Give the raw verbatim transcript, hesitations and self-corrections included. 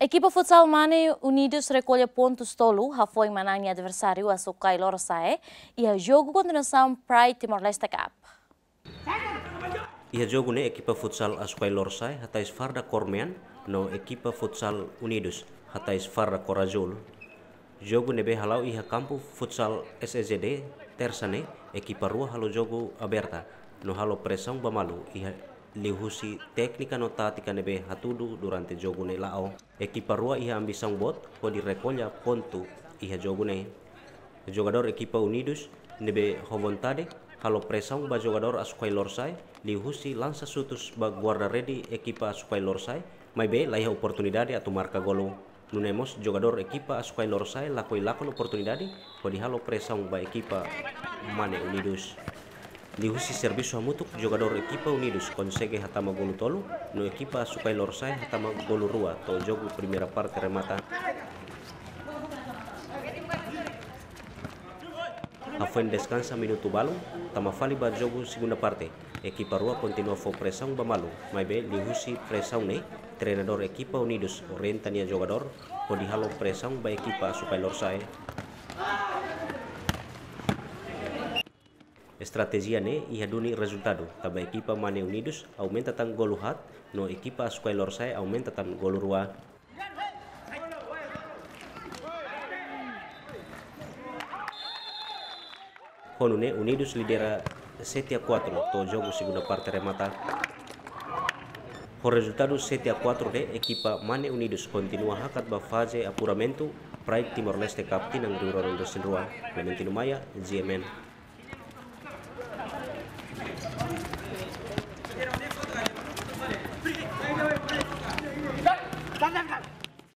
Ekipa futsal Mane Unidos rekolla pontus tolu hafoin manán nia adversáriu Açucay Lorosa'e iha jogu kontinuasaun Pride Timor-Leste Cup. Iha jogu ne'e ekipa futsal Açucay Lorosa'e hatais farda kór mean no ekipa futsal Unidos hatais farda kór azúl. Jogu ne'ebé hala'o iha kampu futsal S E Z D, Tersa ne'e, ekipa rua halo jogu aberta no halo presaun ba malu iha liuhusi téknika no tátika ne'ebé hatudu durante jogu ne'e la'o. Ekipa rua iha ambisaun boot hodi rekolla pontu iha jogu ne'e. Jogadór ekipa Unidos ne'ebé ho vontade halo presaun ba jogadór Açucay Lorosa'e liuhusi lansa xutus ba guarda-rede ekipa Açucay Lorosa'e, maibé laiha oportunidade atu marka golu. Nune'e mós jogadór ekipa Açucay Lorosa'e lakohi lakon oportunidade hodi halo presaun ba ekipa Mane Unidos. Liuhusi servisu hamutuk, jogadór ekipa Unidos konsege hatama golu tolu no ekipa Açucay Lorosa'e hatama golu rua to'o jogu primeira parte remata. Hafoin deskansa minutu balun, tama fali ba jogu segunda parte. Ekipa rua kontinua fó presaun ba malu, maibé liuhusi presaun ne'e, treinadór ekipa Unidos orienta nia jogadór hodi halo presaun ba ekipa Açucay Lorosa'e. Estratéjia ne'e iha duni rezultadu, tanba ekipa Mane Unidos aumenta tan golu haat no ekipa Açucay Lorosa'e aumenta tan golu rua. Ho nune'e Unidos lidera sete a quatro to'o jogu segunda parte remata. Ho rezultadu sete a quatro ne'e, ekipa Mane Unidos kontinua hakat ba faze apuramentu Pride Timor-Leste Cup tinan rihun rua ruanulu-resin-rua. Clementino Maia, G M N.